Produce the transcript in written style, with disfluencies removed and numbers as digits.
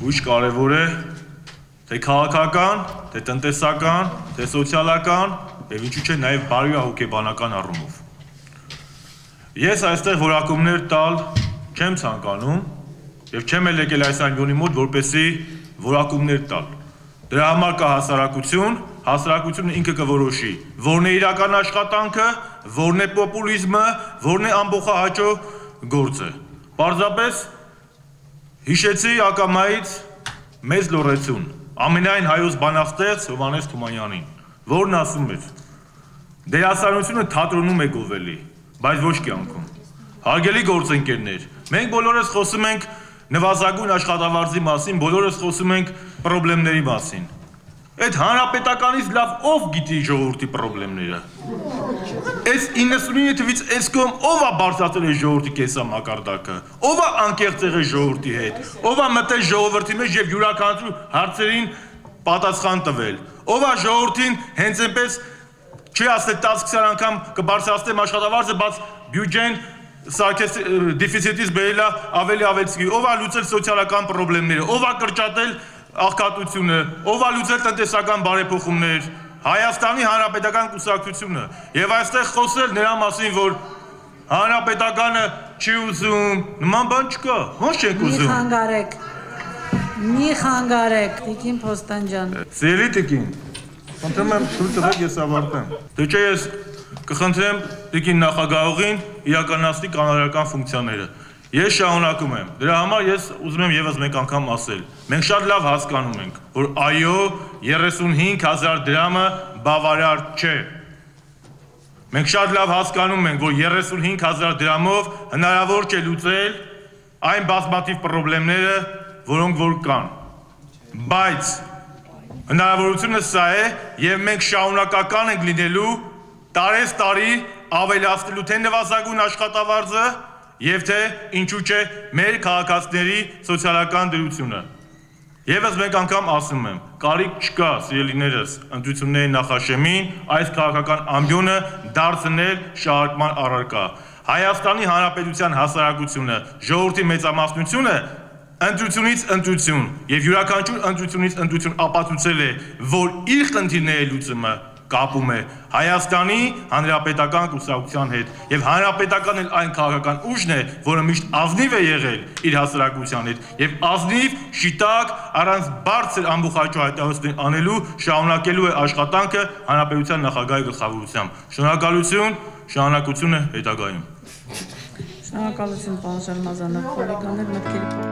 ույժ կարևոր է թե քաղաքական, թե տնտեսական, թե սոցիալական եւ ինչու՞ չէ նաեւ բարոյահոգեբանական առումով։ Ես այստեղ որակումներ տալ չեմ ցանկանում եւ չեմ էլ եկել այս անգոնի մոտ որպեսի որակումներ տալ։ Դրա համար կա հասարակություն, հասարակությունը ինքը կորոշի, որն է իրական աշխատանքը, որն է պոպուլիզմը, որն է ամբողջահաճո գործը։ Պարզապես հիշեցի ակամայից մեծ լոռեցուն, ամենայն հայոց բանաստեղծ Հովհաննես Թումանյանին, որն ասում էր. դերասանությունը թատրոնում է գովելի, բայց ոչ կյանքում։ Հարգելի գործընկերներ, մենք բոլորս խոսում ենք նվազագույն աշխատավարձի մասին, բոլորս խոսում ենք խնդիրների մասին։ Այդ հանրապետականից լավ ով գիտի ժողովրդի խնդիրները։ Այս 99 թվից այս կողմ ով է բարձրացրել այս ժողովրդի կեսամակարդակը, ով է անկեղծ եղել ժողովրդի հետ, ով է մտել ժողովրդի մեջ եւ յուրաքանչյուր հարցերին պատասխան տվել, ով է ժողովրդին հենց այնպես չի ասել 10-20 անգամ կբարձրացնեմ աշխատավարձը, բայց բյուջեն սարքես դեֆիցիտից բերելա ավելի ավելցի, ով է լուծել սոցիալական խնդիրները, ով է կրճատել աղքատությունը, ով է լուծել տնտեսական բարեփոխումներ, Հայաստանի Հանրապետական կուսակցությունը, եւ այստեղ խոսել նրա մասին, որ Հանրապետականը չի ուզում, նման բան չկա, ոնց չեք ուզում։ Մի խանգարեք, Տիկին Փոստանջան։ Սիրելի Տիկին, խնդրում եմ թույլ տվեք ես ավարտեմ։ Դե չէ ես կխնդրեմ Տիկին նախագահողին իրականացնի կանոնական ֆունկցիաները։ Ես շարունակում եմ։ Դրա համար ես ուզում եմ եւս մեկ անգամ ասել։ Մենք շատ լավ հասկանում ենք, որ այո, 35,000 դրամը բավարար չէ։ Մենք շատ լավ հասկանում ենք, որ 35,000 դրամով հնարավոր չէ լուծել այն բազմաթիվ խնդիրները, որոնք որ կան։ Բայց հնարավորությունը սա է, եւ մենք շարունակական ենք լինելու տարեստարի ավելացնելու թե նվազագույն աշխատավարձը եւ թե ինչու՞ չէ մեր քաղաքացիների սոցիալական դրությունը։ Եվս մեկ անգամ ասում եմ, կարիք չկա, սիրելիներս, ընտրությունների նախաշեմին այս քաղաքական ամբիոնը դարձնել շարժման առարկա։ Հայաստանի Հանրապետության հասարակությունը, ժողովրդի մեծամասնությունը ընտրությունից ընտրություն եւ յուրաքանչյուր ընտրությունից ընտրություն ապացուցել է, որ իր խնդիրների լուծումը կապում է Հայաստանի Հանրապետական կուսակցության հետ եւ Հանրապետական էլ այն քաղաքական ուժն է, որը միշտ ազնիվ է եղել իր հասարակության հետ եւ ազնիվ, շիտակ, առանց բարձր ամբողջահաճո հայտարարություններ անելու շարունակելու է աշխատանքը Հանրապետության նախագահի գլխավորությամբ։ Շնորհակալություն, շնորհակալությունը հետագայում։ Շնորհակալություն, պարոն Շարմազանov, խորհրդաններ մտքերի